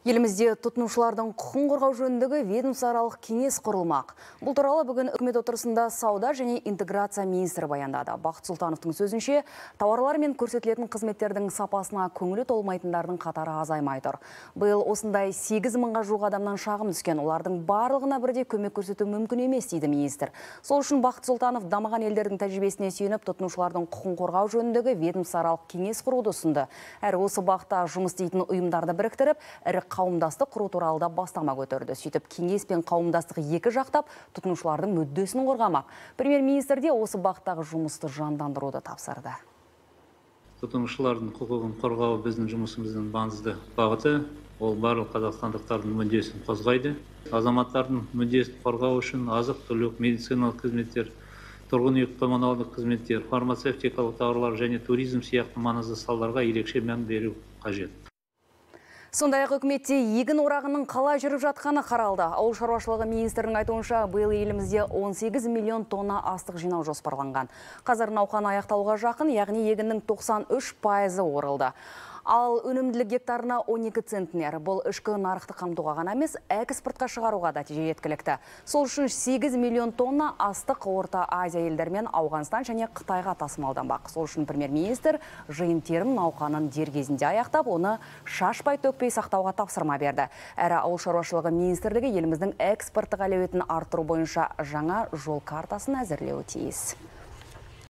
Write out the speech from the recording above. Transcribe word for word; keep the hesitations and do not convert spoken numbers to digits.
Елімізде тұтынушылардың құқын қорғау жөніндегі ведомствоаралық кеңес құрылмақ. Бұл туралы бүгін үкімет отырысында сауда және интеграция министрі баяндады. Бақыт Сұлтановтың сөзінше, тауарлар мен көрсетілетін қызметтердің сапасына көңілі толмайтындардың қатары азаймай тұр. Биыл осындай сегіз мыңға жуық адамнан шағым түскен, олардың барлығына бірдей көмек көрсету мүмкін емес дейді министр. Сол үшін Бақыт Сұлтанов дамыған елдердің тәжірибесіне сүйеніп, тұтынушылардың құқын қорғау жөніндегі ведомствоаралық кеңес құруды ұсынды. Әрі осы бағытта жұмыс істейтін ұйымдарды біріктіріп, ірі қауымдастық құру туралы да бастама көтерді. Сөйтіп, кеңес пен қауымдастық екі жақтап тұтынушылардың мүддесін қорғамақ. Премьер-министр де осы бағыттағы жұмысты жандандыруды тапсырды. Тұтынушылардың құқығын қорғау біздің жұмысымыздың маңызды бағыты. Ол барлық қазақстандықтардың мүддесін қозғайды. Азаматтардың мүддесін қорғау үшін азық-түлік, медициналық қызметтер, тұрғын үй коммуналдық қызметтер, фармацевтикалық тауарлар және туризм сияқты маңызды салаларға ерекше мән беру қажет. Сондай-ақ үкіметте егін орағының қалай жүріп жатқаны қаралды. Ауыл шаруашылығы министрінің айтуынша, биыл елімізде он сегіз миллион тонна астық жинау жоспарланған. Қазір науқан аяқтауға жақын, яғни егіннің тоқсан үш пайызы орылды. Ал өнімділік гектарына он екі центнер. Бұл ішкі нарықты қамтуға ғана емес, экспортқа шығаруға да жеткілікті. Сол үшін сегіз миллион тонна астық Орта Азия елдерімен Ауғанстан және Қытайға тасымалданбақ. Сол үшін премьер-министр жиын-терім науқанын дер кезінде аяқтап, оны шашпай төкпей сақтауға тапсырма берді. Әрі ауыл шаруашылығы министрлігі еліміздің экспорттық әлеуетін арттыру бойынша жаңа жол картасын әзірлеуі тиіс.